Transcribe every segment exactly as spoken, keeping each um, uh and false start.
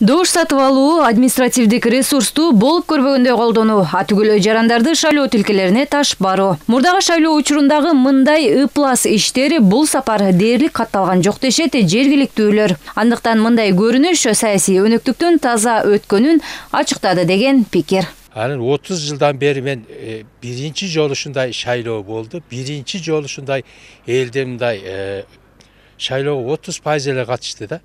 Добуш сатып алуу административдик ресурсту болуп көрбөгөндөй колдонуу, атүгүлө жарандарды шайлоо тилкелерине таш баруу. Мурдагы шайлоо учурундагы мындай ыплас иштери бул сапар дээрлик катталган жок дешет жергиликтүүлөр. Андыктан мындай көрүнүш саясий өнөктүктүн таза өткөнүн ачыктады деген пикир. Анын отуз жылдан бери мен e, биринчи жолу ушундай шайлоо болду. Биринчи жолу ушундай элде мындай e, шайлоого отуз пайыз эле катышты да.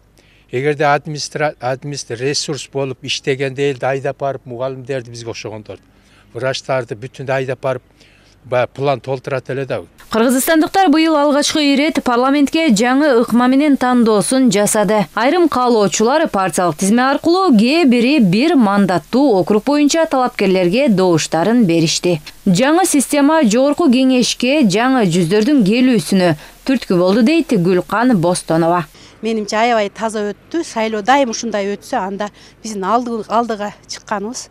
Эгерде администра администр ресурс болуп иштегенде элди айдап барып мугалимдерди бизге окшогондорду, врачтарды бүтүн айдап барып баягы план толтурат эле да. Кыргызстандыктар быйыл алгачкы ирет парламентке жаңы ыкма менен тандоосун жасады. Айрым каалоочулар партиялык тизме аркылуу кээ бири бир мандаттуу округ боюнча талапкерлерге добуштарын беришти. Жаңы система жогорку кеңешке жаңы жүздөрдүн келүүсүнө түрткү болду дейт Гүлкан Бостонова. Менимче аябай таза өттү. Шайлоо дайым ушундай өтсө, анда биздин алды алдыга чыкканыбыз.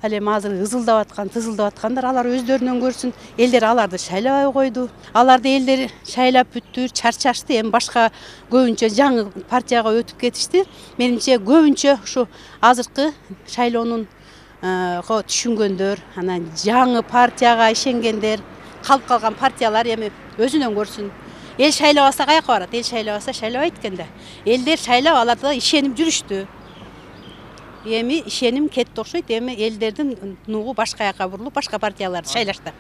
Ал эми азыр ызылдап аткан, тызылдап аткандар алар өздөрүнөн көрсүн. Элдер аларды шайлабай койду. Аларды элдер шайлап бүттү, чарчашты. Эми башка көбүнчө жаңы партияга өтүп кетишти. Менимче көбүнчө ушу азыркы шайлоонун түшүнгөндөр, анан жаңы партияга ишенгендер, калып калган партиялар эми өзүнөн көрсүн. Эл шайлабаса каяка барат? Эл шайлабаса шайлабайт экен да. Элдер шайлап аларда ишенип жүрүштү. Эми ишеним кетти окшойт. Эми элдердин нугу башка жака бурулуп, башка партияларды шайлашты.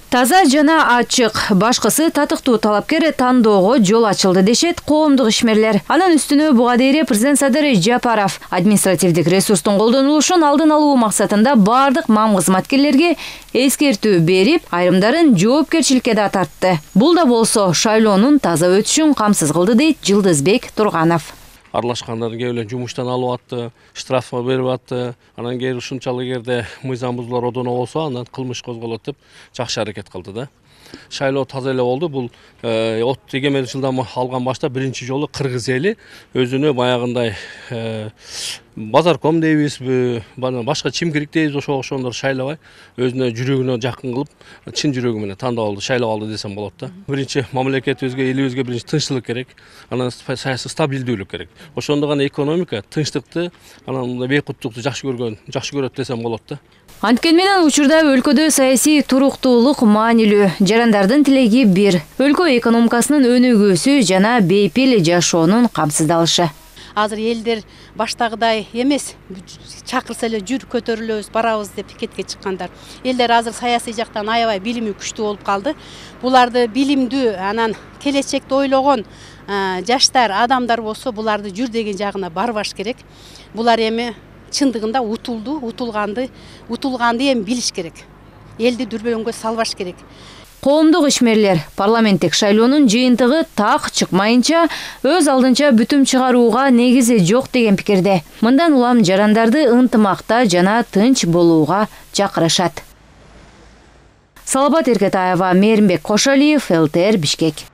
Таза жана ачык, башкысы татыктуу талапкер тандоого жол ачылды дешет коомдук ишмерлер. Анын үстүнө буга дейре президент Садыр Жапаров административдик ресурстун колдонулушун алдын алуу максатында бардык мам кызматкерлерге эскертүү берип, айрымдарын жоопкерчиликке да тартты. Бул да болсо шайлоонун таза өтүшүн камсыз кылды дейт Жылдызбек Турганов. Аралашкандарды кээ эле жумуштан алып атты, штрафка берип атты. Анан кээ ушунчалык жерде мыйзам бузуулар одоно болсо, анан кылмыш козголот деп жакшы аракет кылды да. Шайлоо таза эле болду. Бул от эгемендик жылдан алган башта биринчи жолу кыргыз эли өзүнө баягындай базарком дейбизби, башка чимкирик дейбиз, ошого окшогондор шайлабай, өзүнө жүрөгүнө жакын кылып, чын жүрөгү менен тандап алды, шайлап алды десем болот да. Биринчи мамлекетибизге, элибизге биринчи тынчтык керек, анан саясий стабилдүүлүк керек. Ошондо гана экономика тынчтыкты, анан бейкуттукту жакшы көргөн, жакшы көрөт десем болот да. Анткени менен учурда өлкөдө саясий туруктуулук маанилүү. Жарандардын тилеги бир. Өлкө экономикасынын өнүгүүсү жана бейпил жашоонун камсыздалышы. Азыр элдер баштагыдай эмес, чакырса эле жүр көтөрүлөбүз, барабыз деп пикетке чыккандар. Элдер азыр саясий жактан аябай билими күчтүү болуп калды. Буларды билимдүү, анан келечекти ойлогон жаштар, адамдар болсо, буларды жүр деген жагына барбаш керек. Булар эми чындыгында утулду, утулганды, утулганды эми билиш керек. Элди дүрбөлөңгө салбаш керек. Коомдук ишмерлер парламенттик шайлоонун жыйынтыгы так чыкмайынча өз алдынча бүтүм чыгарууга негизи жок деген пикирде. Мындан улам жарандарды ынтымакта жана тынч болууга чакырышат. Салабат Эркетаева, Мээринбек Кошалиев, эл тэ эр Бишкек.